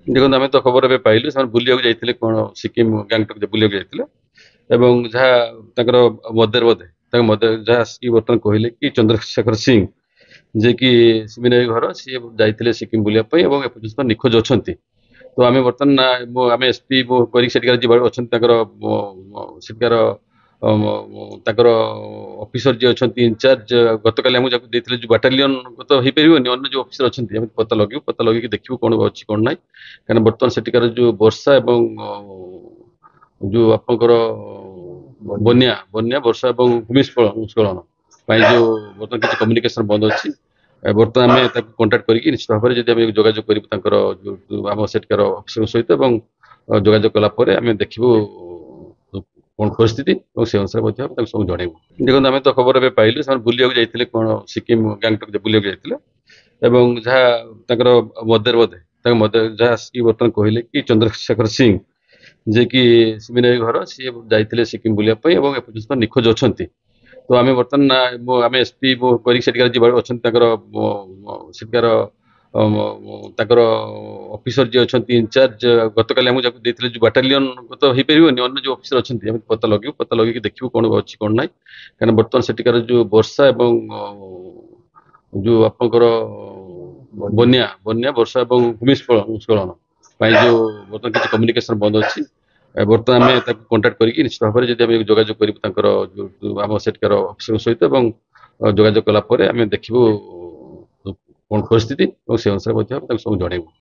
ଦେଖନ୍ତୁ, ଆମେ ତ ଖବର ଏବେ ପାଇଲୁ, ସେମାନେ ବୁଲିବାକୁ ଯାଇଥିଲେ କ'ଣ ସିକିମ୍ ଗ୍ୟାଙ୍ଗଟକ୍ ବୁଲିବାକୁ ଯାଇଥିଲେ ଏବଂ ଯାହା ତାଙ୍କର ମଦର ବୋଧେ ତାଙ୍କ ମଦର ଯାହା ଆସିକି ବର୍ତ୍ତମାନ କହିଲେ କି ଚନ୍ଦ୍ରଶେଖର ସିଂ, ଯିଏକି ସିମିନାଇ ଘର, ସିଏ ଯାଇଥିଲେ ସିକିମ୍ ବୁଲିବା ପାଇଁ ଏବଂ ଏପର୍ଯ୍ୟନ୍ତ ନିଖୋଜ ଅଛନ୍ତି। ତ ଆମେ ବର୍ତ୍ତମାନ ଆମେ ଏସ୍ ପି କରିକି ସେଠିକାର ଯିଏ ଅଛନ୍ତି, ତାଙ୍କର ସେଠିକାର ତାଙ୍କର ଅଫିସର ଯିଏ ଅଛନ୍ତି ଇନଚାର୍ଜ, ଗତକାଲି ଆମକୁ ଯାକୁ ଦେଇଥିଲେ ଯେଉଁ ବାଟାଲିୟନ ତ ହେଇପାରିବନି, ଅନ୍ୟ ଯେଉଁ ଅଫିସର ଅଛନ୍ତି, ଆମେ ପତା ଲଗେଇବୁ, ପତା ଲଗେଇକି ଦେଖିବୁ କ'ଣ ଅଛି କ'ଣ ନାହିଁ। କାରଣ ବର୍ତ୍ତମାନ ସେଠିକାର ଯେଉଁ ବର୍ଷା ଏବଂ ଯେଉଁ ଆପଣଙ୍କର ବନ୍ୟା ବର୍ଷା ଏବଂ ଭୂମିସ୍ଖଳନ ପାଇଁ ଯେଉଁ ବର୍ତ୍ତମାନ କିଛି କମ୍ୟୁନିକେସନ ବନ୍ଦ ଅଛି। ବର୍ତ୍ତମାନ ଆମେ ତାକୁ କଣ୍ଟାକ୍ଟ କରିକି ନିଶ୍ଚିତ ଭାବରେ ଯଦି ଆମେ ଯୋଗାଯୋଗ କରିବୁ ତାଙ୍କର ଆମ ସେଠିକାର ଅଫିସରଙ୍କ ସହିତ ଏବଂ ଯୋଗାଯୋଗ କଲା ପରେ ଆମେ ଦେଖିବୁ କ'ଣ ପରିସ୍ଥିତି ଏବଂ ସେ ଅନୁସାରେ ମଧ୍ୟ ଆମେ ତାକୁ ସବୁ ଜଣାଇବୁ। ଦେଖନ୍ତୁ, ଆମେ ତ ଖବର ଏବେ ପାଇଲୁ, ସେମାନେ ବୁଲିବାକୁ ଯାଇଥିଲେ କ'ଣ ସିକିମ୍ ଗ୍ୟାଙ୍ଗଟକ୍ ବୁଲିବାକୁ ଯାଇଥିଲେ ଏବଂ ଯାହା ତାଙ୍କର ମଦର ବୋଧେ ତାଙ୍କ ମଦର ଯାହା ଆସିକି ବର୍ତ୍ତମାନ କହିଲେ କି ଚନ୍ଦ୍ରଶେଖର ସିଂ, ଯିଏକି ସିମିନାଇ ଘର, ସିଏ ଯାଇଥିଲେ ସିକିମ୍ ବୁଲିବା ପାଇଁ ଏବଂ ଏପର୍ଯ୍ୟନ୍ତ ନିଖୋଜ ଅଛନ୍ତି। ତ ଆମେ ବର୍ତ୍ତମାନ ଆମେ ଏସ୍ ପି କରିକି ସେଠିକାର ଯିଏ ଅଛନ୍ତି, ତାଙ୍କର ସେଠିକାର ତାଙ୍କର ଅଫିସର ଯିଏ ଅଛନ୍ତି ଇନଚାର୍ଜ, ଗତକାଲି ଆମକୁ ଯାକୁ ଦେଇଥିଲେ ଯେଉଁ ବାଟାଲିୟନ ତ ହେଇପାରିବନି, ଅନ୍ୟ ଯେଉଁ ଅଫିସର ଅଛନ୍ତି, ଆମେ ପତା ଲଗେଇବୁ, ପତା ଲଗେଇକି ଦେଖିବୁ କ'ଣ ଅଛି କ'ଣ ନାହିଁ। କାରଣ ବର୍ତ୍ତମାନ ସେଠିକାର ଯେଉଁ ବର୍ଷା ଏବଂ ଯେଉଁ ଆପଣଙ୍କର ବନ୍ୟା ବର୍ଷା ଏବଂ ଭୂମିସ୍ଖଳନ ପାଇଁ ଯେଉଁ ବର୍ତ୍ତମାନ କିଛି କମ୍ୟୁନିକେସନ ବନ୍ଦ ଅଛି। ବର୍ତ୍ତମାନ ଆମେ ତାକୁ କଣ୍ଟାକ୍ଟ କରିକି ନିଶ୍ଚିତ ଭାବରେ ଯଦି ଆମେ ଯୋଗାଯୋଗ କରିବୁ ତାଙ୍କର ଆମ ସେଠିକାର ଅଫିସରଙ୍କ ସହିତ ଏବଂ ଯୋଗାଯୋଗ କଲା ପରେ ଆମେ ଦେଖିବୁ କ'ଣ ପରିସ୍ଥିତି ଏବଂ ସେ ଅନୁସାରେ ମଧ୍ୟ ଆମେ ତାକୁ ସବୁ ଜଣାଇବୁ।